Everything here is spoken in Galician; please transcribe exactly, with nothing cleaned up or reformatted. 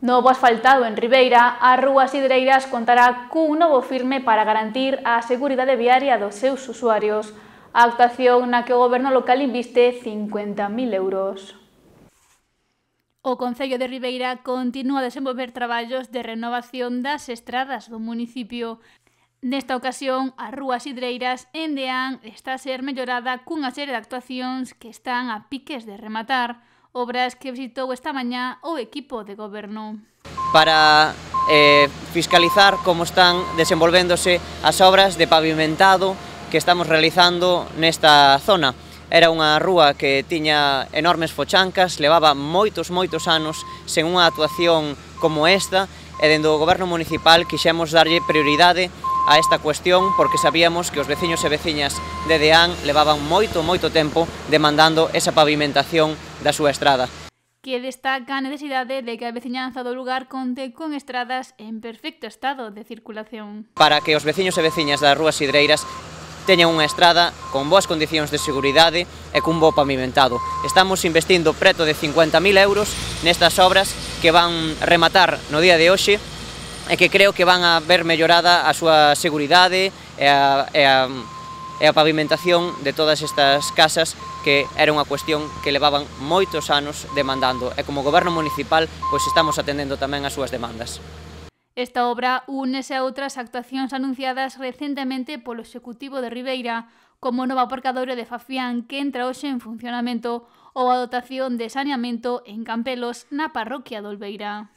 Novo asfaltado en Ribeira, a Rúa Sidreiras contará cun novo firme para garantir a seguridade viaria dos seus usuarios. A actuación na que o goberno local inviste cincuenta mil euros. O Concello de Ribeira continúa a desenvolver traballos de renovación das estradas do municipio. Nesta ocasión, a Rúa Sidreiras en Deán está a ser mellorada cunha serie de actuacións que están a piques de rematar, obras que visitou esta mañá o equipo de goberno. Para eh, fiscalizar como están desenvolvéndose as obras de pavimentado que estamos realizando nesta zona. Era unha rúa que tiña enormes fochancas, levaba moitos, moitos anos sen unha actuación como esta, e dende o goberno municipal quixemos darlle prioridade a esta cuestión porque sabíamos que os veciños e veciñas de Deán levaban moito, moito tempo demandando esa pavimentación da súa estrada. Que destaca a necesidade de que a veciñanza do lugar conte con estradas en perfecto estado de circulación. Para que os veciños e veciñas das Rúas Sidreiras teñan unha estrada con boas condicións de seguridade e cun bo pavimentado. Estamos investindo preto de cincuenta mil euros nestas obras que van rematar no día de hoxe e que creo que van a ver mellorada a súa seguridade e a, e a, e a pavimentación de todas estas casas, que era unha cuestión que levaban moitos anos demandando, e como goberno municipal pois estamos atendendo tamén as súas demandas. Esta obra únese a outras actuacións anunciadas recentemente polo Executivo de Ribeira, como o novo aparcadoiro de Fafián que entra hoxe en funcionamento ou a dotación de saneamento en Campelos na parroquia de Olveira.